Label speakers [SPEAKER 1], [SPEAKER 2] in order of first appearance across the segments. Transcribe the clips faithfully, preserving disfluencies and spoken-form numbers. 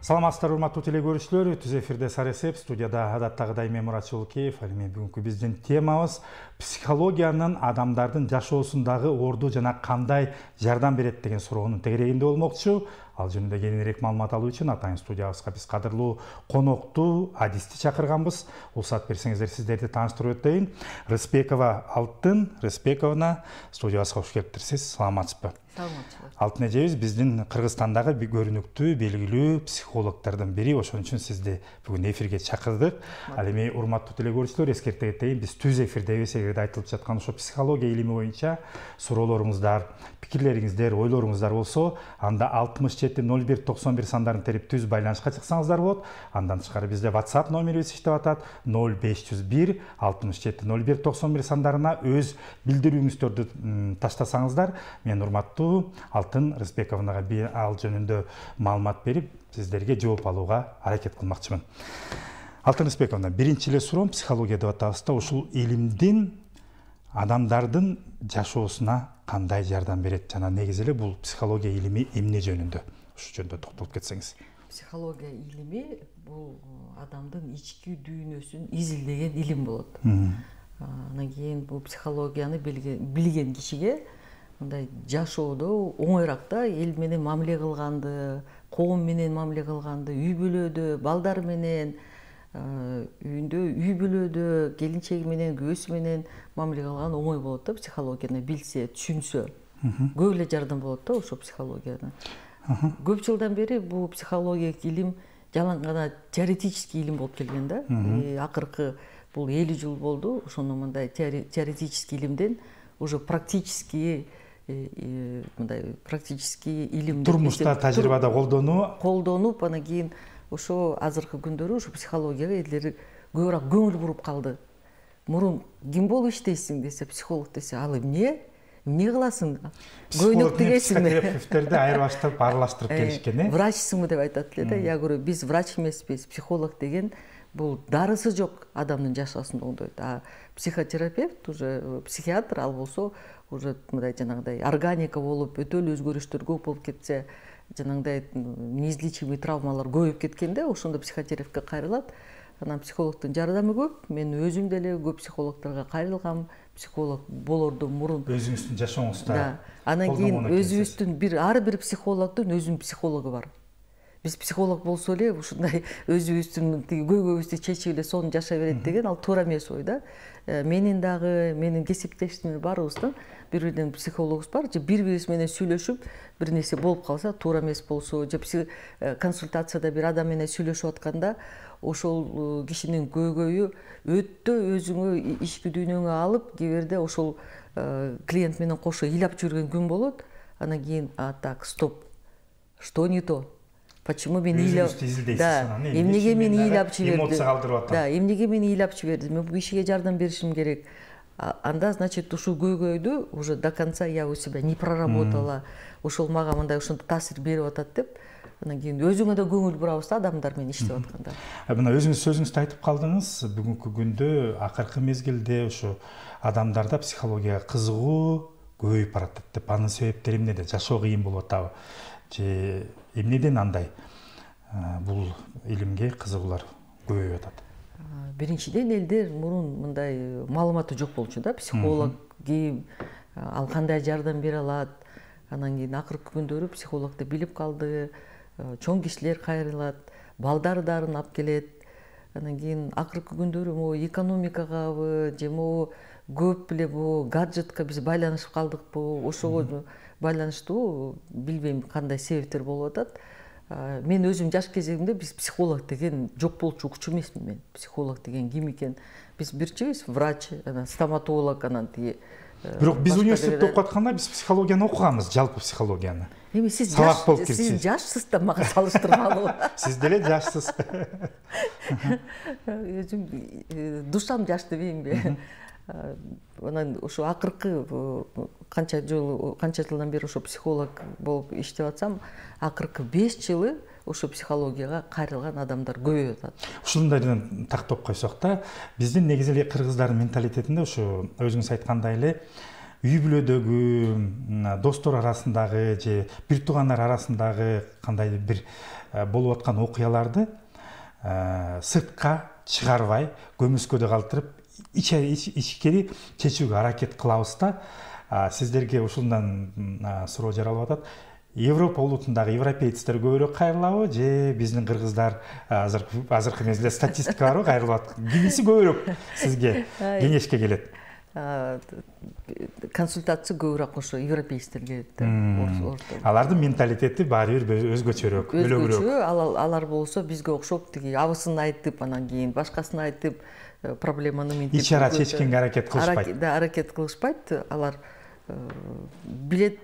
[SPEAKER 1] Саламатсыздар, урматтуу теле көрүүчүлөр. Түз эфирде Саресеп, студияда адаттагыдай мен Мурат Чулукеев. Ал эми бүгүнкү биздин темабыз психологиянын адамдардын жашоосундагы орду жана кандай жардам берет деген суроонун тегерегинде болмокчу. Ал жөнүндө кененирээк маалымат алуу үчүн атайын студиябызга биз кадырлуу конокту, адисти чакырганбыз. Уруксат берсеңиздер сиздерди тааныштырып өтөйүн. Рыспекова Алтын Рыспековна студиябызга кош келиптирсиз. Саламатсызбы?
[SPEAKER 2] Саламатсызбы.
[SPEAKER 1] Алтын эжебиз биздин Кыргызстандагы көрүнүктүү, белгилүү психологдордун бири. Ошон үчүн сизди бүгүн эфирге чакырдык. Ал эми урматтуу теле көрүүчүлөр, эскерте кетейин, биз түз эфирдебиз. Эгерде айтылып жаткан ошо психология илими боюнча суроолоруңуздар, пикирлериңиздер, ойлоруңуздар болсо, анда алтымыш жети ноль бир токсон бир сандарын терип түз байланышка чыксаңыздар болот. Андан тышкары бизде WhatsApp номерибиз иштеп атат. ноль беш жүз бир алтымыш жети ноль бир токсон бир сандарына өз билдирүүңүздөрдү таштасаңыздар, мен урматтуу Алтын Рыспековнага ал жөнүндө маалымат берип, сиздерге жооп алууга аракет кылмакчымын. Алтын Рыспековна, биринчи эле суроом психология деп атабыз да, ушул илимдин адамдардын жашоосуна кандай жардам берет жана негизи эле бул психология илими эмне жөнүндө? Ушу жөнүндө токтолуп кетсеңиз.
[SPEAKER 2] Психология илими бул адамдын ички дүйнөсүн изилдеген илим болот. Анан кийин бул психологияны билген кишиге мындай жашоодо оңойраак да, эл менен мамиле кылганды, коом менен мамиле кылганды, үй бүлөдө, балдар менен, үйүндө, үй бүлөдө, келинчеги менен, күйөөсү менен мамиле кылган оңой болот да, психологияны билсе, түшүнсө. Көп эле жардам болот да ошо психологиядан. Көп жылдан бери бул психологиялык илим жалаң гана теоретический илим болуп келген да. Акыркы бул элүү жыл болду, ошону мындай теоретический илимден уже практически мындай практический илим
[SPEAKER 1] турмушта, тажрыйбада колдонуу
[SPEAKER 2] колдонуп, анан кийин ошо азыркы күндөрү ушу психологияга элдер көбүрөөк көңүл буруп калды. Мурун ким болуп иштейсиң десе, психолог десе, ал эмне? Эмне кыласың? Көйнөк тигесиңби?
[SPEAKER 1] Психотерапевттерди айырбаштырып, аралаштырып келишкен, э?
[SPEAKER 2] Врачсыңбы деп айтат эле да. Я говорю, биз врач эмеспиз, психолог деген бул дарысы жок адамдын жашоосун оңдойт. А психотерапевт уже психиатр, ал болсо уже мындай жанагыдай органика болуп, өтө эле өзгөрүштөр көп болуп кетсе, жанагыдай неизлечимый травмалар көбөйүп кеткенде, ошондо психотерапевтке кайрылат. Анан психологдун жардамы көп. Мен өзүм деле көп психологдорго кайрылгам. Психолог болордон мурун
[SPEAKER 1] өзүңүздүн жашооңузда.
[SPEAKER 2] Да. Анан кийин өзүбүздүн бир ар бир психологдун өзүнүн психологу бар. Биз психолог болсо эле ушундай өзүбүздүн тиги көйгөйүбүздү чечип эле сону жашай берет деген ал туура эмес ой да. Менин дагы, менин кесиптешимдин баарыбыздын бири-биринен психологубуз бар. Же бири-бирибиз менен сүйлөшүп, бир нерсе болуп калса, туура эмес болсо, же консультацияда бир адам менен сүйлөшүп атканда, ошол кишинин көйгөйү өтө өзүңө ички дүйнөңө алып, кээ бирде ошол клиент менен кошо ыйлап жүргөн күн болот. Анан кийин, а так, стоп. Что не то? Почему мен ыйлап, да, эмнеге мен ыйлап жибердим?
[SPEAKER 1] Эмоция калтырып атам.
[SPEAKER 2] Да, эмнеге мен ыйлап жибердим? Мен бул кишиге жардам беришим керек. Анда, значит, ушул көйгөйдү уже до конца я у себя не проработала. Ошол мага мындай ушундай таасир берип атат деп, анан кийин өзүңө да көңүл бурабыз да адамдар менен иштеп атканда.
[SPEAKER 1] Мына өзүңүз сөзүңүздө айтып калдыңыз, бүгүнкү күндө акыркы мезгилде ошо адамдарда психологияга кызыгуу көбөйүп баратат деп, анын себептери эмнеде? Жашоо кыйын болуп атабы? Же эмнеден андай бул илимге кызыгуулар көбөйүп атат?
[SPEAKER 2] Биринчиден элдер мурун мындай маалыматы жок болчу да, психолог ким, ал кандай жардам бере алат. Анан кийин акыркы күндөрү психологду билип калды, чоң кишилер кайрылат, балдар дарын алып келет. Анан кийин акыркы күндөрү могу экономикагабы, же могу көп эле бу гаджетке биз байланышып калдыкпы, ошого байланыштуу билбейм кандай себептер болуп атат. Мен өзүм жаш кезегимде биз психолог деген жок болчу, укчу эмесмин мен. Психолог деген ким экен? Биз бирчибиз врач, анан стоматолог, анан тиги.
[SPEAKER 1] Бирок биз университетте окуп атканда биз психологияны окуганбыз, жалпы психологияны.
[SPEAKER 2] Эми сиз жаш, сиз жашсыз да мага салыштырмалуу.
[SPEAKER 1] Сиз деле жашсыз.
[SPEAKER 2] Өзүм душам жаш дебеймби? Анан ошо акыркы канча жыл, канча жылдан бери ошо психолог болуп иштеп атсам, акыркы беш жылы ошо психологияга кайрылган адамдар көбөйүп атат.
[SPEAKER 1] Ушундайдан тактап койсок да, биздин негизи эле кыргыздардын менталитетинде ошо өзүңүз айткандай эле үй бүлөдөгү достор арасындагы же бир туугандар арасындагы кандайдыр бир болуп аткан окуяларды сыртка чыгарбай көмүскөдө калтырып ичкери чечүүгө аракет кылабыз да. Сиздерге ушундан суроо жаралып атат. Европа улутундагы европейцтер көбүрөөк кайрылабы же биздин кыргыздар азыркы азыркы мезгилде статистика барбы кайрылып аткан? Кимиси көбүрөөк сизге кеңешке келет?
[SPEAKER 2] Консультация көбүрөөк ошо европейцтерге келет.
[SPEAKER 1] Алардын менталитети баары бир өзгөчөрөөк,
[SPEAKER 2] өзгөчө. Алар болсо бизге окшоп тиги абысын айтып, анан кийин башкасын айтып, проблеманы мынтип
[SPEAKER 1] ич ара чечкенге аракет кылышпайт.
[SPEAKER 2] Да, аракет кылышпайт. Алар билет,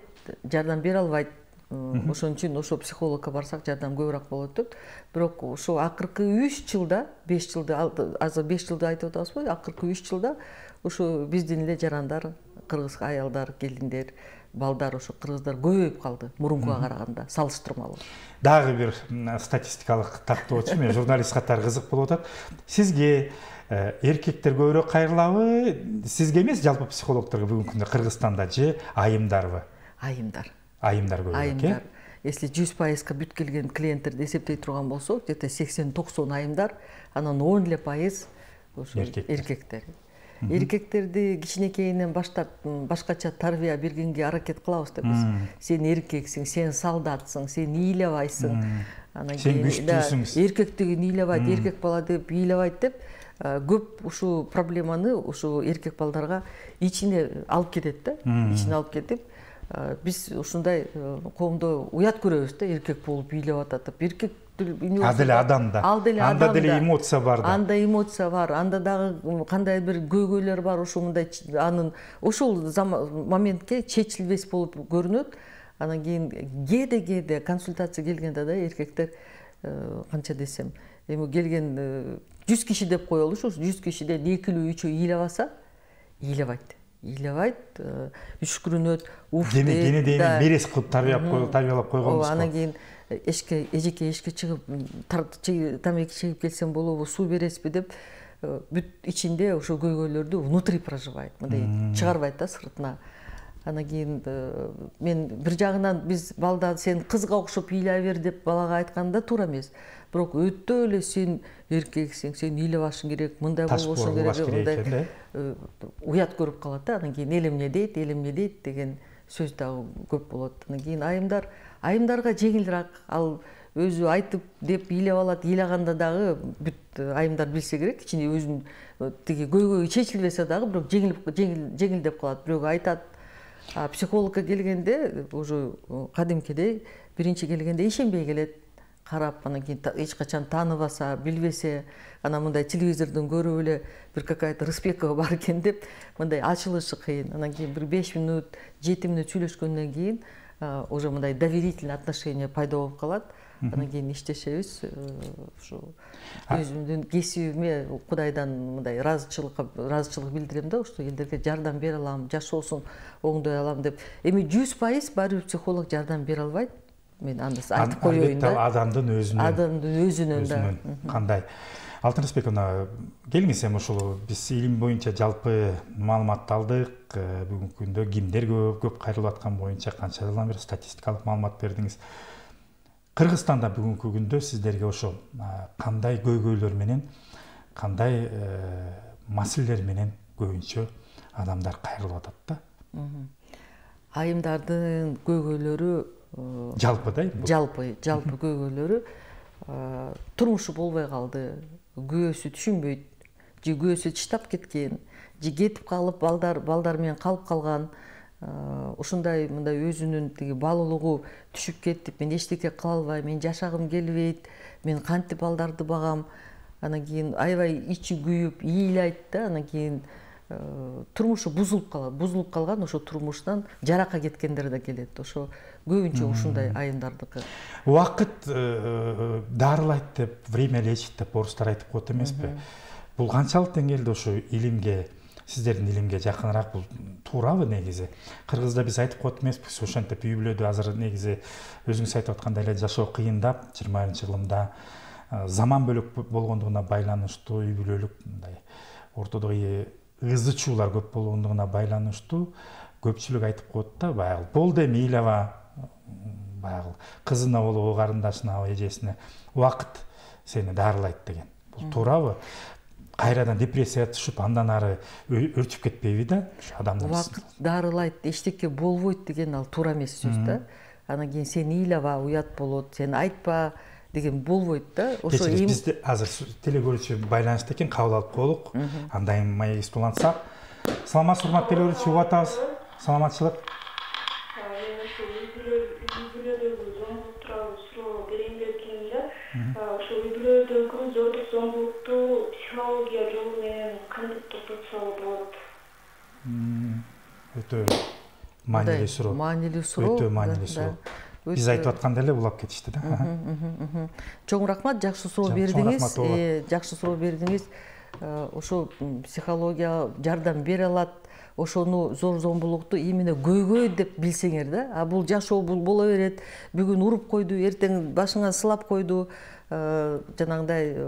[SPEAKER 2] жардам бере албайт. Ошон үчүн ошо психологко барсак жардам көбүрөөк болот деп. Бирок ошо акыркы үч жылда, беш жылда, азыр беш жылда айтып атабызбы? Акыркы үч жылда ошо биздин эле жарандар, кыргыз аялдар, келиндер, балдар ошо кыргыздар көбөйүп калды мурункуга караганда, салыштырмалуу.
[SPEAKER 1] Дагы бир статистикалык тактоочу, мен журналист катары кызык болуп атат. Сизге эркектер көбүрөөк кайрылабы, сизге эмес, жалпы психологторго бүгүнкү күндө Кыргызстанда же айымдарбы?
[SPEAKER 2] Айымдар.
[SPEAKER 1] Айымдар көбүрөөк, э?
[SPEAKER 2] Если жүз пайызга бүт келген клиенттерди эсептей турган болсок, где-то сексен токсон айымдар, анан он эле пайыз ошо эркектер. Эркектерди кичинекейинен баштап башкача тарбия бергенге аракет кылабыз да биз. Сен эркексиң, ыен солдатсың, сен ыйлабайсың. Анан
[SPEAKER 1] кийин күчтүүсүң.
[SPEAKER 2] Эркектигин ыйлабайт, эркек бала деп ыйлабайт деп көп ушул проблеманы ушул эркек балдарга ичине алып кетет да, ичине алып кетип, биз ушундай коомдо уят көрөбүз да, эркек болуп ыйлап атат. Эркек
[SPEAKER 1] ал деле адамда. Анда деле эмоция бар да.
[SPEAKER 2] Анда эмоция бар, анда дагы кандай бир көйгөйлөр бар, ошо мындай анын ошол моментке чечилбес болуп көрүнөт. Анан кийин кээде кээде консультация келгенде да эркектер канча десем, эми келген жүз киши деп коелушу, жүз кишиден экилүү үчөө ыйлабаса, ыйлабайт. Ыйлабайт, үшкүрүнөт, уф
[SPEAKER 1] деп. Кене дейин берес кылып тарбиялап койгонбуз.
[SPEAKER 2] Анан кийин эшке, эжеке эшке чыгып, тамеки чегип келсем болобу, суу бересизби деп, бүт ичинде ошо көйгөйлөрдү внутри проживает, мындай чыгарбайт да сыртына. Анан кийин мен бир жагынан биз балда сен кызга окшоп ыйлай бер деп балага айтканда туура эмес. Бирок өтө эле сен эркексиң, сен ыйлабашың керек, мындай болбошуң керек, мындай уят көрүп калат да. Анан кийин эл эмне дейт, эл эмне дейт деген сөз дагы көп болот. Анан кийин айымдар, айымдарга жеңилирээк, ал өзү айтып деп ыйлап алат, ыйлаганда дагы бүт айымдар билсе керек, ичинде өзүнүн тиги көйгөйү чечилбесе дагы бирок жеңилип жеңилдеп калат. Бирок айтат. А психологко келгенде уже кадимкидей биринчи келгенде ишенбей келет. Карап, анан кийин эч качан тааныбаса, билбесе, анан мындай телевизордон көрүп эле бир какая-то Рыспекова бар экен деп, мындай ачылышы кыйын. Анан кийин бир беш мүнөт, жети мүнөт сүйлөшкөндөн кийин уже мындай доверительный отношение пайда болуп калат. Анан кийин иштешебиз. Ушу өзүмдүн кесибиме Кудайдан мындай ыраазычылыкка ыраазычылык билдирем да, ошо элдерге жардам бере алам, жашоосун оңдой алам деп. Эми жүз пайыз баары бир психолог жардам бере албайт. Мен анда айтып коеюн да.
[SPEAKER 1] Адамдын өзүнөн.
[SPEAKER 2] Адамдын өзүнөн да.
[SPEAKER 1] Кандай? Алтын Рыспековна, келиңиз эми ушул биз илим боюнча жалпы маалыматты алдык. Бүгүнкү күндө кимдер көп, көп кайрылып аткан боюнча канча жылдан бери статистикалык маалымат бердиңиз. Кыргызстанда бүгүнкү күндө сиздерге ошо кандай көйгөйлөр менен, кандай маселелер менен көбүнчө адамдар кайрылып атат да?
[SPEAKER 2] Айымдардын көйгөйлөрү
[SPEAKER 1] жалпы да?
[SPEAKER 2] Жалпы, жалпы көйгөйлөрү турмушу болбой калды, күйөөсү түшүнбөйт, же күйөөсү чыштап кеткен, же кетип калып балдар балдар менен калып калган. Ушундай мындай өзүнүн тиги баалуулугу түшүп кетип, мен эчтеке кыла албайм, мен жашагым келбейт, мен кантип балдарды багам. Анан кийин аябай ичи күйүп, ыйлайт да, анан кийин турмушу бузулуп калат. Бузулуп калган ошо турмуштан жаракка кеткендер да келет. Ошо көбүнчө ушундай айымдардыкы.
[SPEAKER 1] Убакыт дарылайт деп, время лечит деп орустар айтып коет эмеспи? Бул канчалык деңгээлде ошо илимге, сиздердин илимге жакыныраак, бул туурабы негизи? Кыргызда биз айтып коет эмеспиз, ошентип үй бүлөдө азыр негизи өзүңүз айтып аткандай эле жашоо кыйындап, жыйырма биринчи кылымда заман бөлөк болгондугуна байланыштуу үй бүлөлүк мындай ортодогу ызы чуулар көп болгондугуна байланыштуу көпчүлүк айтып коет да, баягы болду эми ыйлаба, баягы кызына болобу, карындашына, эжесине убакыт сени дарылайт деген. Бул туурабы? Кайрадан депрессияга түшүп, андан ары өрчүп кетпейби да адамдын?
[SPEAKER 2] Убакыт дарылайт, эчтеке болбойт деген ал туура эмес сөз да. Анан кийин сен ыйлаба, уят болот, сен айтпа деген болбойт да.
[SPEAKER 1] Ошо эми бизде азыр телекөрүүчү байланышта экен, кабыл алып коелук. Андай маегибизди улантсак. Саламатсызбы, урматтуу телекөрүүчү, угуп атабыз. Саламатчылык.
[SPEAKER 3] Ошо үй-бүлөдөгү зордук зомбулукту психология жолу менен кантип токтотсо болот?
[SPEAKER 1] Өтө маанилүү суроо.
[SPEAKER 2] Маанилүү суроо.
[SPEAKER 1] Өтө маанилүү суроо. Биз айтып атканда эле улап кетишти да.
[SPEAKER 2] Чоң рахмат, жакшы суроо бердиңиз. Жакшы суроо бердиңиз. Ошо психология жардам бере алат. Ошону зор зомбулукту именно көйгөй деп билсеңер да. А бул жашоо бул боло берет. Бүгүн уруп койду, эртең башыңа сылап койду. Жанагындай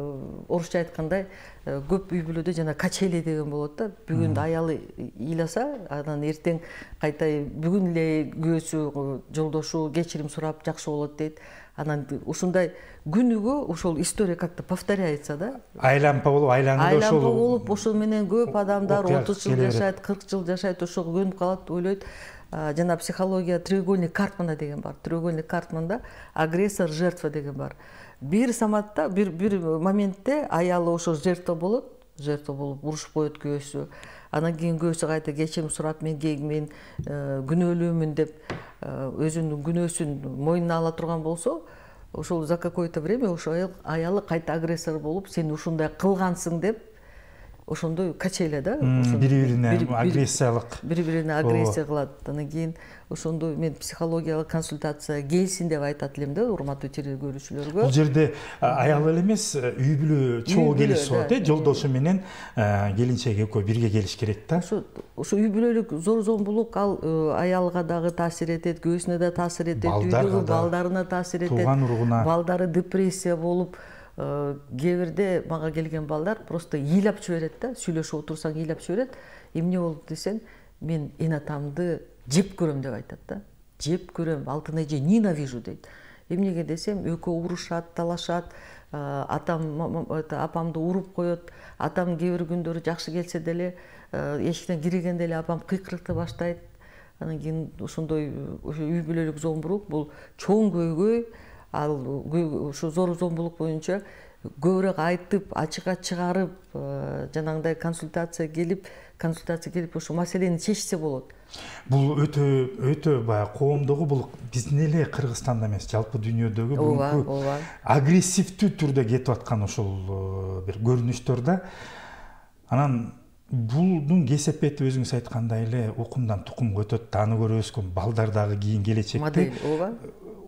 [SPEAKER 2] орусча айткандай көп үй бүлөдө жана качели деген болот да. Бүгүн аялы ыйласа, анан эртең кайта бүгүн эле күйөөсү, жолдошу кечирим сурап жакшы болот дейт. Анан ушундай күнүгө ошол история как-то повторяется да.
[SPEAKER 1] Айлампа болуп, айланып ошол.
[SPEAKER 2] Айлампа болуп, ошол менен көп адамдар отуз жыл жашайт, кырк жыл жашайт, ошого көнүп калат, ойлойт. Жана психология треугольник Карпмана деген бар. Треугольник Карпманда агрессор, жертва деген бар. Бир саматта, бир бир моментте аялы ошо жертва болот, жертва болуп урушуп коет күйөөсү. Анан кийин күйөөсү кайта кечирим сурап, мен мен күнөөлүүмүн деп өзүнүн күнөөсүн мойнуна ала турган болсо, ошол за какое-то время ошо аялы кайта агрессор болуп, сен ушундай кылгансың деп ошондой качеля да.
[SPEAKER 1] Бири-бирине агрессиялык.
[SPEAKER 2] Бири-бирине агрессия кылат. Анан кийин ошондой мен психологиялык консультация келсин деп айтат элем да урматтуу телекөрүүчүлөргө.
[SPEAKER 1] Бул жерде аял эле эмес, үй бүлө чогуу келиш болот э, жолдошу менен келинчеги экөө бирге келиш керек да.
[SPEAKER 2] Ошо ошо үй бүлөлүк зор зомбулук ал аялга дагы таасир этет, күйөөсүнө да таасир этет, үйдөгү балдарына таасир этет.
[SPEAKER 1] Тууган уругуна.
[SPEAKER 2] Балдары депрессия болуп, кээ бирде мага келген балдар просто ыйлап жиберет да, сүйлөшүп отурсаң ыйлап жиберет. Эмне болду десең, мен эн атамды жеп көрөм деп айтат да. Жеп көрөм, алтын эже ненавижу дейт. Эмнеге десем, экөө урушат, талашат, атам апамды уруп коет, атам кээ бир күндөрү жакшы келсе деле эшиктен киргенде эле апам кыйкырыкты баштайт. Анан кийин ошондой үй бүлөлүк зомбулук бул чоң көйгөй. Ал ушу зор зомбулук боюнча көбүрөөк айтып, ачыкка чыгарып, жанагындай консультация келип, консультация келип ошо маселени чечсе болот.
[SPEAKER 1] Бул өтө өтө баягы коомдогу, бул биздин эле Кыргызстанда эмес, жалпы дүйнөдөгү бүгүнкү агрессивдүү түрдө кетип аткан ошол бир көрүнүштөр да. Анан булдун кесепети өзүңүз айткандай эле укумдан тукумга өтөт, аны көрүп өскөн балдар дагы кийин келечекте
[SPEAKER 2] модель ооба.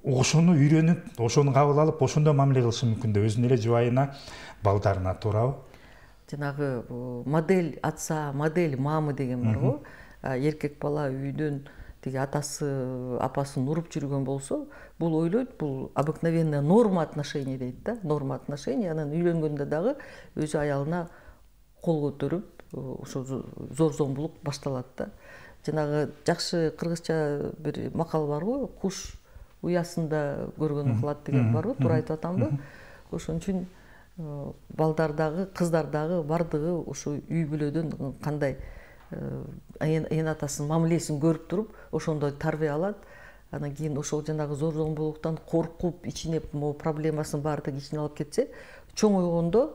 [SPEAKER 1] Ошону үйрөнүп, ошону кабыл алып, ошондой мамиле кылышы мүмкүн да өзүнүн эле жубайына, балдарына, туурабы?
[SPEAKER 2] Жанагы модель отца, модель мамы деген бар го. Эркек бала үйдөн тиги атасы, апасын уруп жүргөн болсо, бул ойлойт, бул обыкновенная норма отношений дейт да, норма отношений. Анан үйлөнгөндө дагы өзү аялына кол көтөрүп, ошо зор зомбулук башталат да. Жанагы жакшы кыргызча бир макал бар го, куш уясында көргөн кылат деген бар го, туура айтып атамбы? Ошон үчүн балдар дагы, кыздар дагы бардыгы ошо үй бүлөдөн кандай эн атасынын мамилесин көрүп туруп, ошондой тарбия алат. Анан кийин ошол жанагы зор зомбулуктан коркуп, ичине могу проблемасын баардыгы ичине алып кетсе, чоң ойгондо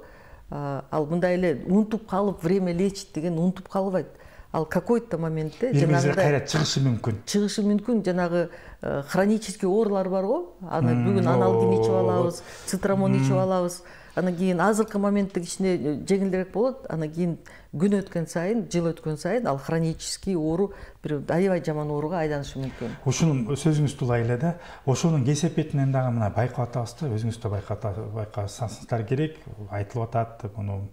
[SPEAKER 2] ал мындай эле унутуп калып, время лечит деген унутуп калбайт. Ал какой-то моментте
[SPEAKER 1] жанагы кайра чыгышы мүмкүн.
[SPEAKER 2] Чыгышы мүмкүн. Жанагы хронический оорулар бар го. Аны бүгүн аналгин ичип алабыз, цитрамон ичип алабыз. Анан кийин азыркы моментте кичине жеңилдерээк болот. Анан кийин күн өткөн сайын, жыл өткөн сайын ал хронический оору бир аябай жаман ооруга айланышы мүмкүн.
[SPEAKER 1] Ошонун сөзүңүз туула эле да. Ошонун кесепетинен дагы мына байкап атабыз да, өзүңүз да байкасаңыздар керек. Айтылып атат, муну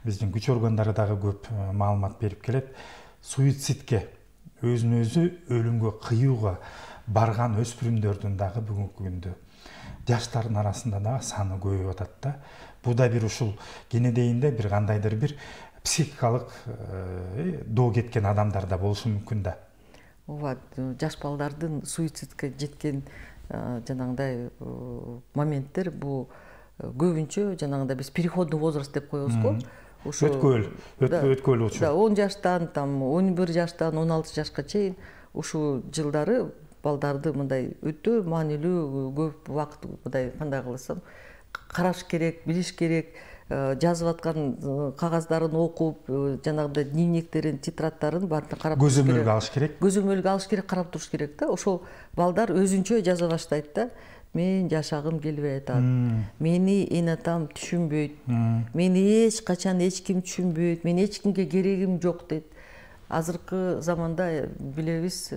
[SPEAKER 1] биздин күч органдары дагы көп маалымат берип келет. Суицидке, өзүн өзү өлүмгө кыюуга барган өспүрүмдөрдүн дагы бүгүнкү күндө жаштардын арасында дагы саны көбөйүп атат да. Бу да бир ушул кенедейинде бир кандайдыр бир психикалык доо кеткен адамдар да болушу мүмкүн да.
[SPEAKER 2] Ооба, жаш балдардын суицидке жеткен жанагындай моменттер бул көбүнчө жанагындай биз переходный возраст деп коебуз го.
[SPEAKER 1] Ошо өткөл, өткөл учур.
[SPEAKER 2] Да, он жаштан, там он бир жаштан он алты жашка чейин ушул жылдары балдарды мындай өтө маанилүү көп убакыт мындай кандай кылсам караш керек, билиш керек, жазып аткан кагаздарын окуп, жанагындай дневниктерин, тетрадтарын баарын карап туруш керек.
[SPEAKER 1] Көзөмөлгө алыш керек.
[SPEAKER 2] Көзөмөлгө алыш керек, карап туруш керек да. Ошол балдар өзүнчө жаза баштайт да. Мен жашагым келбей атат. Мени эне атам түшүнбөйт. Мени эч качан эч ким түшүнбөйт. Мен эч кимге керегим жок дейт. Азыркы заманда билебиз,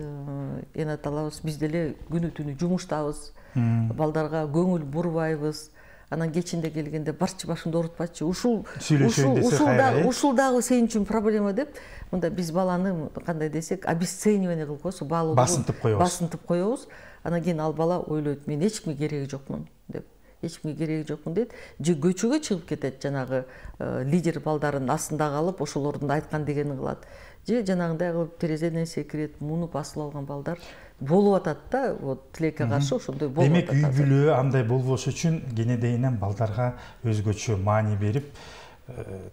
[SPEAKER 2] эне аталарыбыз биз деле күнү түнү жумуштабыз. Балдарга көңүл бурбайбыз. Анан кечинде келгенде барчы башымды оорутпачы. Ушул ушул дагы сен үчүн проблема деп, мында биз баланы кандай десек, обесценивание кылып коебуз, баалоо
[SPEAKER 1] басынтып коебуз.
[SPEAKER 2] Басынтып коебуз. Анан кийин ал бала ойлойт, мен эч кимге кереги жокмун деп. Эч кимге кереги жокмун дейт. Же көчөгө чыгып кетет, жанагы лидер балдарын астында калып, ошолордун айткан дегенин кылат. Же жанагындай кылып терезеден секирет, мунуп асыл алган балдар болуп атат да, вот тилекке каршы ошондой болуп атат.
[SPEAKER 1] Демек үй бүлө андай болбош үчүн кенедейинен балдарга өзгөчө маани берип,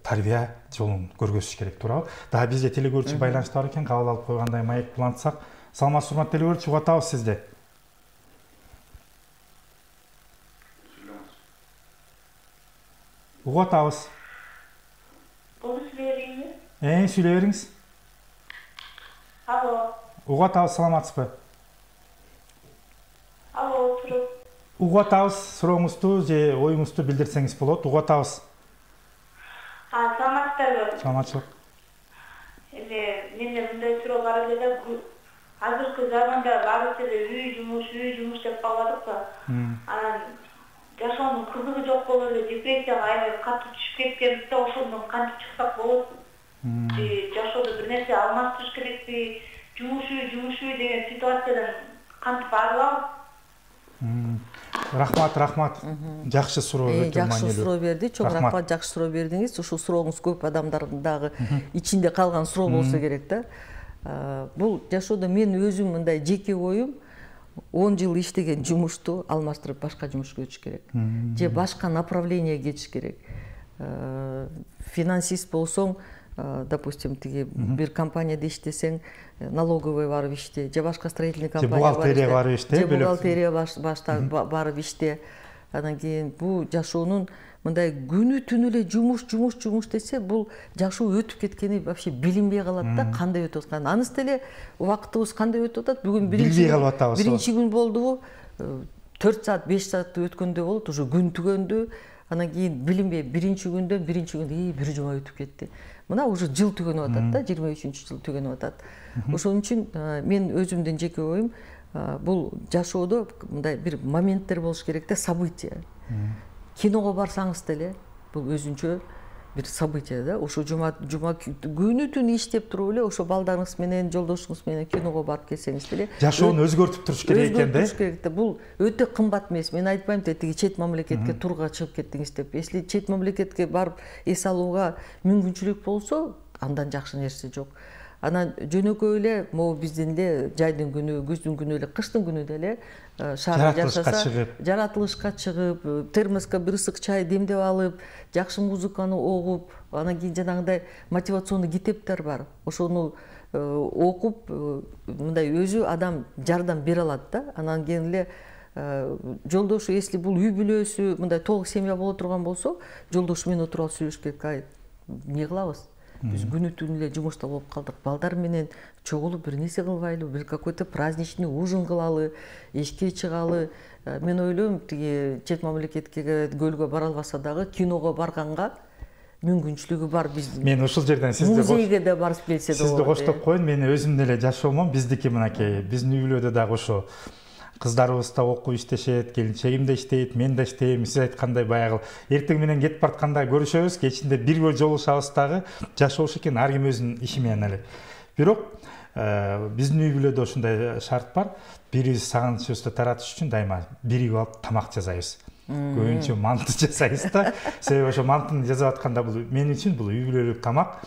[SPEAKER 1] тарбия жолун көргөзүш керек, туурабы? Дагы бизде телекөрүүчү байланышта бар экен, кабыл алып койгандай маек улантсак. Саламатсызбы, урматтуу телекөрүүчү, угуп атабыз сизди. Угуп атабыз.
[SPEAKER 3] Болду сүйлөйбүзбү?
[SPEAKER 1] Э, сүйлөй бериңиз.
[SPEAKER 3] Алло.
[SPEAKER 1] Угуп атабыз, саламатсызбы?
[SPEAKER 3] Алло, туруп.
[SPEAKER 1] Угуп атабыз, сурооңузду же оюңузду билдирсеңиз болот. Угуп атабыз.
[SPEAKER 3] А, саламатсыздарбы?
[SPEAKER 1] Саламатчылык.
[SPEAKER 3] Эми менде мындай суроо бар эле да, азыркы заманда баарыбыз эле үй жумуш, үй жумуш деп калдык да. Анан жашоонун кызыгы жок болуп эле депрессияга аябай катуу түшүп кеткенбиз да, ошондон кантип чыксак болот? Же жашоодо бир нерсе алмаштырыш керекпи? Жумуш үй, жумуш үй деген ситуациядан кантип арылабыз?
[SPEAKER 1] Рахмат, рахмат. Жакшы суроо, өтө маанилүү.
[SPEAKER 2] Жакшы суроо берди. Чоң рахмат, жакшы суроо бердиңиз. Ушул сурооңуз көп адамдардын дагы ичинде калган суроо болсо керек да. Бул жашоодо мен өзүм мындай жеке оюм, он жыл иштеген жумушту алмаштырып башка жумушка өтүш керек. Же башка направление кетиш керек. Финансист болсоң, допустим, тиги бир компанияда иштесең, налоговый барып иште, же башка строительный компания
[SPEAKER 1] бухгалтерия барып иште,
[SPEAKER 2] же бухгалтерия башта барып иште. Анан кийин бул жашоонун мындай күнү түнү эле жумуш, жумуш, жумуш десе, бул жашоо өтүп кеткени вообще билинбей калат да, кандай өтүп атканын. Анысы деле убактыбыз кандай өтүп атат? Бүгүн биринчи биринчи күн болдубу? төрт саат, беш саат өткөндө болот, уже күн түгөндү. Анан кийин билинбей биринчи күндөн биринчи күн ии бир жума өтүп кетти. Мына уже жыл түгөнүп атат да, жыйырма үчүнчү жыл түгөнүп атат. Ошон үчүн мен өзүмдүн жеке оюм, бул жашоодо мындай бир моменттер болуш керек да, события. Киного барсаңыз деле, бул өзүнчө бир события да. Ошо жума жума күнү түнү иштеп туруп эле, ошо балдарыңыз менен, жолдошуңуз менен киного барып келсеңиз деле,
[SPEAKER 1] жашоону өзгөртүп туруш керек экен да.
[SPEAKER 2] Өзгөртүш керек да. Бул өтө кымбат эмес. Мен айтпайм да, тиги чет мамлекетке турга чыгып кеттиңиз деп. Если чет мамлекетке барып эс алууга мүмкүнчүлүк болсо, андан жакшы нерсе жок. Анан жөнөкөй эле могу биздин эле жайдын күнү, күздүн күнү эле, кыштын күнү деле шаарда жашаса, жаратылышка чыгып, термоска бир ысык чай демдеп алып, жакшы музыканы угуп, анан кийин жанагындай мотивационный китептер бар. Ошону окуп, мындай өзү адам жардам бере алат да. Анан кийин эле жолдошу, если бул үй бүлөсү, мындай толук семья боло турган болсо, жолдошу менен отуруп алып сүйлөшүш керек. Ай, эмне кылабыз? Биз күнү түнү эле жумушта болуп калдык. Балдар менен чогулуп бир нерсе кылбайлы, бир какой-то праздничный ужин кылалы, эшикке чыгалы. Мен ойлойм, тиги чет мамлекетке, көлгө бара албаса дагы киного барганга мүмкүнчүлүгү бар. Биз
[SPEAKER 1] мен ушул жерден сизди
[SPEAKER 2] музейге да барып келсе да
[SPEAKER 1] болот. Сизди коштоп коеюн, мен өзүм деле жашоомон, биздики мынакей, биздин үй бүлөдө дагы ошо кыздарыбыз да окуп иштешет, келинчегим да иштейт, мен да иштейм. Сиз айткандай баягы эртең менен кетип баратканда көрүшөбүз, кечинде бирге жолугушабыз дагы. Жашоош экен ар ким өзүнүн иши менен эле. Бирок биздин үй бүлөдө ошондой шарт бар. Бирибиз сагынычыбызды таратыш үчүн дайыма биригип алып тамак жасайбыз. көбүнчө манты жасайбыз да. Себеби ошо мантыны жасап атканда бул мен үчүн бул үй бүлөлүк тамак.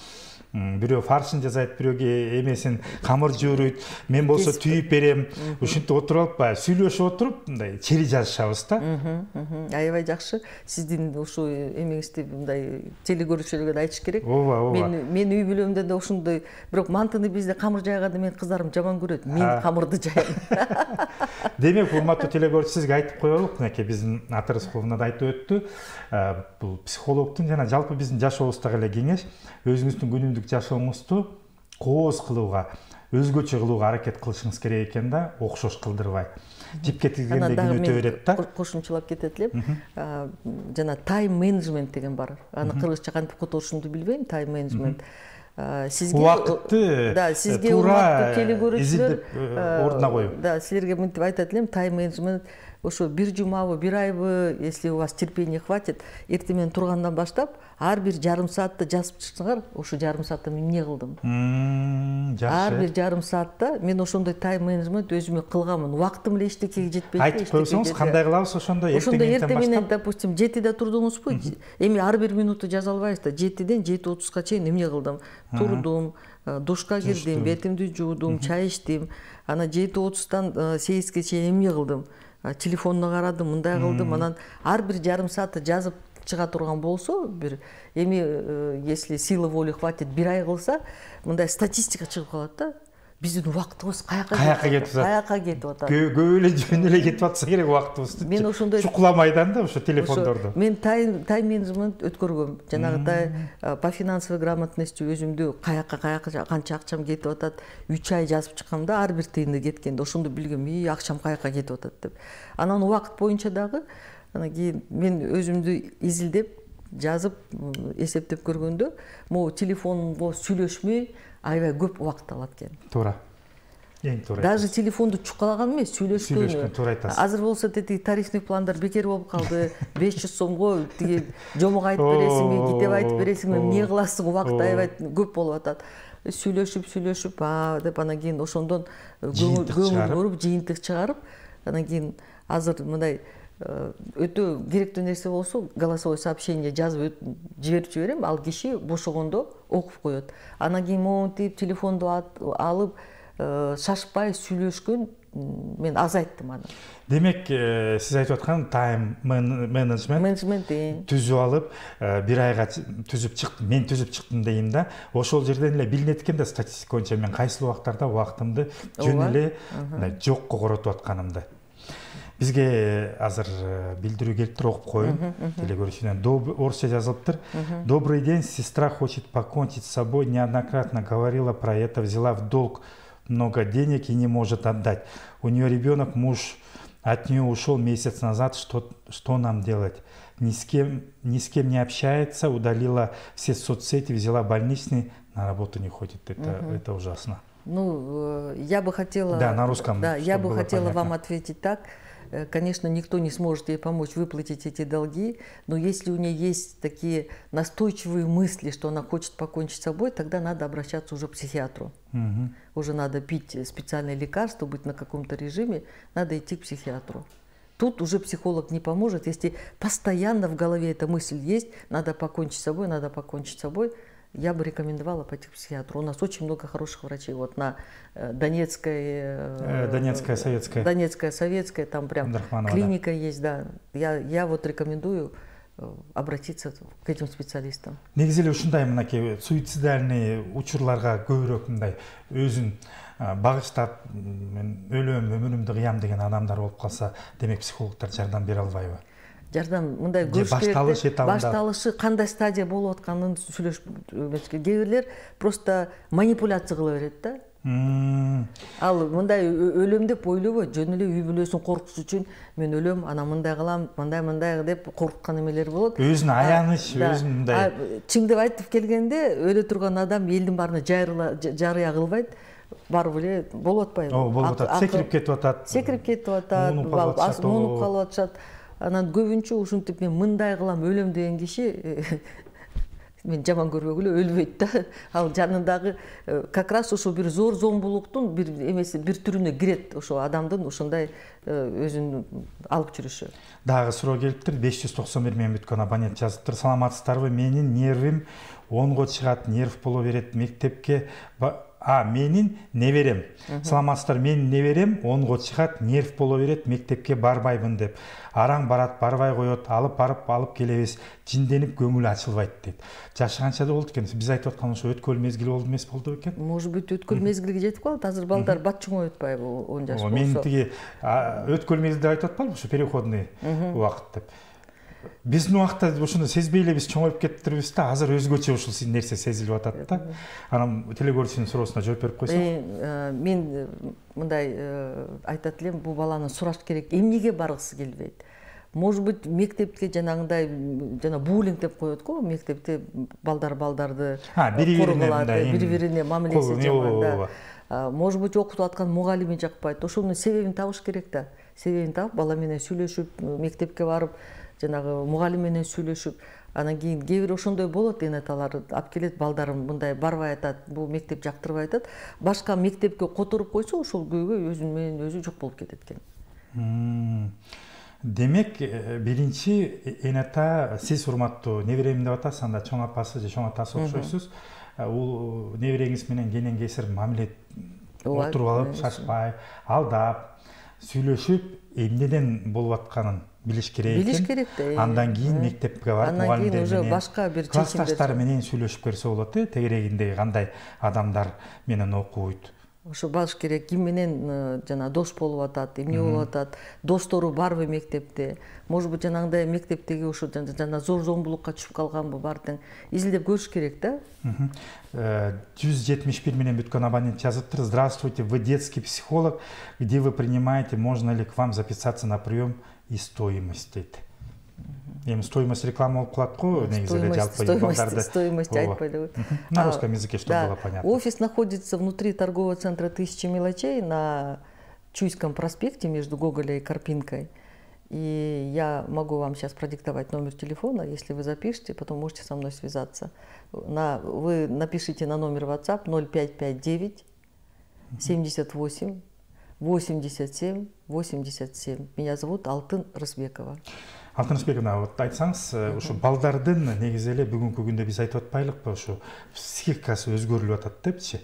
[SPEAKER 1] Бирөө фаршын жасайт, бирөөгө эмесин камыр жууруйт. Мен болсо түйүп берем. Ушинтип отуруп алып, баягы сүйлөшүп отуруп, мындай чери жазышабыз да.
[SPEAKER 2] Аябай жакшы. Сиздин ушул эмеңизди мындай телекөрүүчүлөргө да айтыш керек.
[SPEAKER 1] Ооба, ооба.
[SPEAKER 2] Мен мен үй бүлөмдө да ошондой, бирок мантыны бизде камыр жайганда мен кыздарым жаман көрөт. Мен камырды жаям.
[SPEAKER 1] Демек, урматтуу телекөрүүчү, сизге айтып коелук, мынакей биздин Ата Рыскуловна да айтып өттү. Бул психологдун жана жалпы биздин жашообуздагы эле кеңеш, өзүңүздүн күнүмдүк жашооңузду кооз кылууга, өзгөчө кылууга аракет кылышыңыз керек экен да, окшош кылдырбай. Жипке тигилгенде күн өтө берет да.
[SPEAKER 2] Кошумчалап кетет элем. Жана тайм менеджмент деген бар. Аны кыргызча кантип которушумду билбейм, тайм менеджмент. Сизге
[SPEAKER 1] убакытты
[SPEAKER 2] да, сизге
[SPEAKER 1] туура
[SPEAKER 2] телекөрүүчүлөр
[SPEAKER 1] ордуна коюп.
[SPEAKER 2] Да, силерге мынтип айтат элем, тайм менеджмент ошо бир жумабы, бир айбы, если у вас терпения хватит, эртең менен тургандан баштап ар бир жарым саатты жазып чыксаңар, ошо жарым саатта мен эмне кылдым?
[SPEAKER 1] Жакшы.
[SPEAKER 2] Ар бир жарым саатта мен ошондой тайм менеджмент өзүмө кылганмын. Убактым эле эчтекеге жетпейт.
[SPEAKER 1] Айтып койсоңуз, кандай кылабыз ошондой
[SPEAKER 2] эртең менен, допустим, жетиде турдуңузбу? Эми ар бир минуту жаза албайбыз да. жетиден жети отузга чейин эмне кылдым? Турдум, душка кирдим, бетимди жуудум, чай ичтим. Анан жети отуздан сегизге чейин эмне кылдым? Телефонуна карадым, мындай кылдым. Анан ар бир жарым саатты жазып чыга турган болсо, бир эми если силы воли хватит бир ай кылса, мындай статистика чыгып калат да. Биздин убактыбыз каяка
[SPEAKER 1] кетип атат?
[SPEAKER 2] Каяка кетип атат?
[SPEAKER 1] Көп эле жөн эле кетип атса керек убактыбызды.
[SPEAKER 2] Мен ошондой
[SPEAKER 1] чукуламайдан да ошо телефондорду.
[SPEAKER 2] Мен тайм тайм менеджмент өткөргөм. Жанагыдай по финансовой грамотности өзүмдү каяка каяка канча акчам кетип атат, үч ай жазып чыккам да, ар бир тыйынды кеткенде ошондо билгем, и акчам каяка кетип атат деп. Анан убакыт боюнча дагы анан кийин мен өзүмдү изилдеп, жазып, эсептеп көргөндө, могу телефонго сүйлөшмөй аябай көп убакыт алат экен.
[SPEAKER 1] Туура. Эң туура.
[SPEAKER 2] Даже телефонду чукалаган эмес, сүйлөшкөн.
[SPEAKER 1] Сүйлөшкөн, туура айтасыз.
[SPEAKER 2] Азыр болсо тети тарифный пландар бекер болуп калды. беш жүз сомго тиги жомок айтып бересиңби, китеп айтып бересиңби, эмне кыласың, убакыт аябай көп болуп атат. Сүйлөшүп, сүйлөшүп, а деп анан кийин ошондон көңүл буруп, жыйынтык чыгарып, анан кийин азыр мындай өтө керектүү нерсе болсо, голосовой сообщение жазып жиберип жиберем, ал киши бошогондо окуп коет. Анан кийин монтип, телефонду алып, шашпай сүйлөшкөн мен азайттым аны.
[SPEAKER 1] Демек, сиз айтып аткан тайм менеджмент түзүп алып, бир айга түзүп чыктым, мен түзүп чыктым дейм да. Ошол жерден эле билинет экен да, статистика боюнча мен кайсы убактарда убактымды жөн эле жокко коротуп атканымды. Бизге азыр билдирүү келиптир, окуп коеюн. Телекөрүүчүдөн орусча жазылыптыр. Добрый день, сестра хочет покончить с собой, неоднократно говорила про это, взяла в долг много денег и не может отдать. У нее ребенок, муж от нее ушел месяц назад, что, что нам делать? Ни с кем, ни с кем не общается, удалила все соцсети, взяла больничный, на работу не ходит. Это, угу. это ужасно.
[SPEAKER 2] Ну, я бы хотела...
[SPEAKER 1] Да, на русском.
[SPEAKER 2] Да, я бы хотела понятно. Вам ответить так. Конечно, никто не сможет ей помочь выплатить эти долги, но если у нее есть такие настойчивые мысли, что она хочет покончить с собой, тогда надо обращаться уже к психиатру. Угу. Уже надо пить специальные лекарства, быть на каком-то режиме, надо идти к психиатру. Тут уже психолог не поможет, если постоянно в голове эта мысль есть, надо покончить с собой, надо покончить с собой. Я бы рекомендовала пойти к психиатру. У нас очень много хороших врачей. Вот на Донецкой...
[SPEAKER 1] Донецкая, Советская.
[SPEAKER 2] Донецкая, Советская, там прям клиника да. Есть, да. Я, я вот рекомендую обратиться к этим специалистам.
[SPEAKER 1] Негизи эле ушундай мынакей суицидальный учурларга көбүрөөк мындай өзүн багыштап, мен өлөм, өмүрүмдү кыям деген адамдар болуп калса, демек психологдор жардам бере албайбы?
[SPEAKER 2] Жардам мындай көрүш керек. Башталышы кандай стадия болуп атканын сүйлөшүп, кээ бирлер просто манипуляция кыла берет да. Ал мындай өлөм деп ойлобой, жөн эле үй бүлөсүн коркутуш үчүн мен өлөм, анан мындай кылам, мындай мындай деп коркуткан эмелер болот.
[SPEAKER 1] Өзүн аяныч, өзүн мындай.
[SPEAKER 2] Чын деп айтып келгенде, өлө турган адам элдин баарына жарыя кылбайт. Барып эле болуп атпайбы?
[SPEAKER 1] Ооба, болуп атат. Секирип кетип атат.
[SPEAKER 2] Секирип кетип атат, муунуп калып атышат. Анан көбүнчө ушинтип мен мындай кылам, өлөм деген киши мен жаман көрбөгүлө өлбөйт да. Ал жанындагы как раз ошо бир зор зомбулуктун бир эмеси бир түрүнө кирет, ошо адамдын ушундай өзүн алып жүрүшү.
[SPEAKER 1] Дагы суроо келиптир. беш жүз токсон бир мең бүткөн абонент жазыптыр. Саламатсыздарбы? Менин нервим онго чыгат, нерв боло берет. Мектепке а менин неберем. Саламатсыздар, менин неберем онго чыгат, нерв боло берет, мектепке барбайбын деп. Араң барат, барбай коет, алып барып алып келебиз. Жинденип көңүл ачылбайт дейт. Жашы канчада болду экен? Биз айтып аткан ошо өткөл мезгил болду эмес болду экен?
[SPEAKER 2] Может быть, өткөл мезгилге жетип калат. Азыр балдар бат чоңой өтпайбы он жаш болсо.
[SPEAKER 1] Мен тиги өткөл мезгил деп айтып атпаймынбы, ошо переходный убакыт деп. Биздин убакта ошону сезбей эле биз чоңоюп кетиптирбиз да, азыр өзгөчө ушул нерсе сезилип атат да. Анан телегөрүүчүнүн суроосуна жооп берип койсоң.
[SPEAKER 2] Мен мындай айтат элем, бул баланы сураш керек, эмнеге баргысы келбейт? Может быть, мектепке жанагындай жана буллинг деп коет го, мектепте балдар балдарды
[SPEAKER 1] коргулат,
[SPEAKER 2] бири-бирине мамилеси жаман да. Может быть, окутуп аткан мугалими жакпайт. Ошонун себебин табыш керек да. Себебин таап, бала менен сүйлөшүп, мектепке барып, жанагы мугалим менен сүйлөшүп, анан кийин кээ бир ошондой болот, энеталар алып келет, балдарым мындай барбай атат, бул мектеп жактырбай атат. Башка мектепке которуп койсо, ошол көйгөй өзү менен өзү жок болуп кетет экен.
[SPEAKER 1] Демек, биринчи энета сиз урматтуу неберем деп атасыз, анда чоң апасы же чоң атасы окшойсуз. Бул небереңиз менен кенен кесир мамиле отуруп алып, шашпай, алдап, сүйлөшүп, эмнеден болуп атканын билиш керек экен.
[SPEAKER 2] Билиш керек да.
[SPEAKER 1] Андан кийин мектепке барып, мугалимдер менен,
[SPEAKER 2] башка бир
[SPEAKER 1] классташтар менен сүйлөшүп көрсө болот э, тегерегинде кандай адамдар менен окуйт.
[SPEAKER 2] Ошо баш керек, ким менен жана дос болуп атат, эмне болуп атат, достору барбы мектепте, может быть, жанагындай мектептеги ошо жана зор зомбулукка түшүп калганбы, баардыгын изилдеп көрүш керек да.
[SPEAKER 1] жүз жетимиш бир менен бүткөн абонент жазыптыр. Здравствуйте, вы детский психолог, где вы принимаете, можно ли к вам записаться на прием и стоимость дейт. Эми стоимость реклама болуп калат го, негизи эле жалпы балдарды.
[SPEAKER 2] Стоимость айтпайлы.
[SPEAKER 1] На русском языке, чтобы было понятно.
[SPEAKER 2] Офис находится внутри торгового центра «Тысяча мелочей» на Чуйском проспекте между Гоголя и Карпинкой. И я могу вам сейчас продиктовать номер телефона, если вы запишете, потом можете со мной связаться. На, вы напишите на номер WhatsApp ноль пять пять девять семьдесят восемь восемьдесят семь восемьдесят семь. Меня зовут Алтын Рысбекова.
[SPEAKER 1] Алтын Рысбековна, вот айтсаңыз, ушу балдардын негизи эле бүгүнкү күндө биз айтып атпайлыкпы, ушу психикасы өзгөрүлүп атат депчи.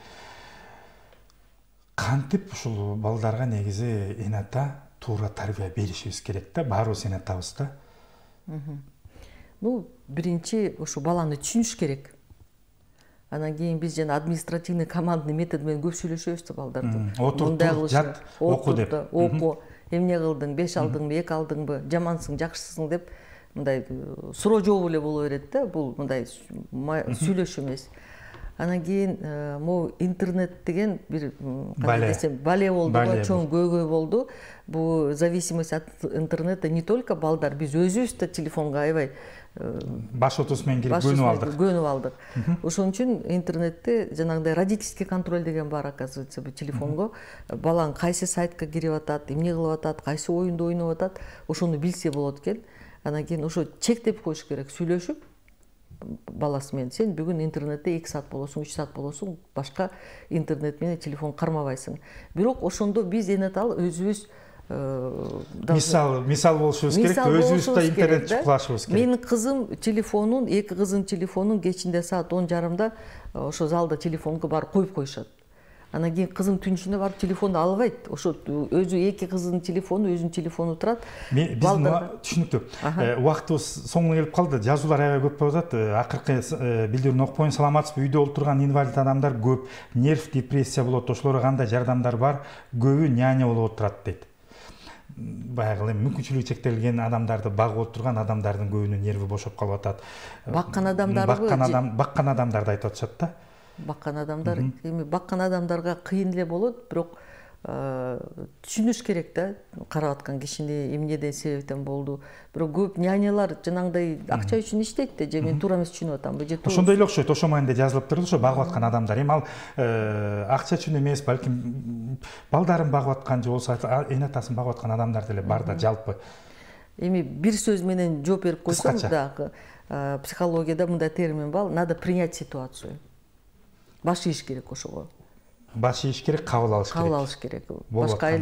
[SPEAKER 1] Кантип ушул балдарга негизи энета туура тарбия беришибиз керек да, баарыбыз энетабыз да.
[SPEAKER 2] Ну, биринчи ушу баланы түшүнүш керек. Анан кийин биз жана административный командный метод менен көп сүйлөшөбүз да балдарды.
[SPEAKER 1] Отур, жат, оку деп.
[SPEAKER 2] Оку. Эмне кылдың, беш алдыңбы, эки алдыңбы, жамансың, жакшысың деп мындай суроо жообу эле боло берет да, бул мындай сүйлөшүү эмес. Анан кийин могу интернет деген бир кандай десем бале болду, чоң көйгөй болду. Бул зависимость от интернета не только балдар, биз өзүбүз да телефонго аябай
[SPEAKER 1] баш отуз менен кирип көнүп алдык.
[SPEAKER 2] Көнүп алдык. Ошон үчүн интернетте жанагындай родительский контроль деген бар, оказывается, бул телефонго. Балаң кайсы сайтка кирип атат, эмне кылып атат, кайсы оюнду ойноп атат, ошону билсе болот экен. Анан кийин ошо чектеп коюш керек, сүйлөшүп баласы менен. Сен бүгүн интернетте эки саат болосуң, үч саат болосуң, башка интернет менен телефон кармабайсың. Бирок ошондо биз энетал өзүбүз
[SPEAKER 1] мисал мисал болушубуз керек, өзүбүз да интернет чукулашыбыз керек.
[SPEAKER 2] Менин кызым телефонун, эки кыздын телефонун кечинде саат он жарымда ошо залда телефонго барып коюп коюшат. Анан кийин кызым түн ичинде барып телефонду албайт. Ошо өзү эки кыздын телефону, өзүнүн телефону турат.
[SPEAKER 1] Биздин түшүнүктүү. Убактыбыз соңуна келип калды. Жазуулар аябай көп болуп атат. Акыркы билдирүүнү окуп коеюн. Саламатсызбы? Үйдө олтурган инвалид адамдар көп. Нерв депрессия болот. Ошолорго кандай жардамдар бар? Көбү няня болуп отурат дейт. Баягы эми мүмкүнчүлүгү чектелген адамдарды багып отурган адамдардын көбүнүн нерви бошоп калып атат.
[SPEAKER 2] Баккан адамдарбы?
[SPEAKER 1] Баккан адам, баккан адамдарды айтып атышат да.
[SPEAKER 2] Баккан адамдар, эми баккан адамдарга кыйын эле болот, бирок түшүнүш керек да, карап аткан кишини эмнеден себептен болду. Бирок көп нянялар жанагындай акча үчүн иштейт да, же мен туура эмес түшүнүп атамбы, же туура.
[SPEAKER 1] Ошондой эле окшойт, ошо маанинде жазылып турду, ошо багып аткан адамдар. Эми ал акча үчүн эмес, балким балдарын багып аткан же болсо энетасын багып аткан адамдар деле бар да жалпы.
[SPEAKER 2] Эми бир сөз менен жооп берип койсом, дагы психологияда мындай термин бар, надо принять ситуацию. Баш ийиш керек ошого.
[SPEAKER 1] Баш ийиш керек, кабыл алыш керек.
[SPEAKER 2] Кабыл алыш керек. Башка айла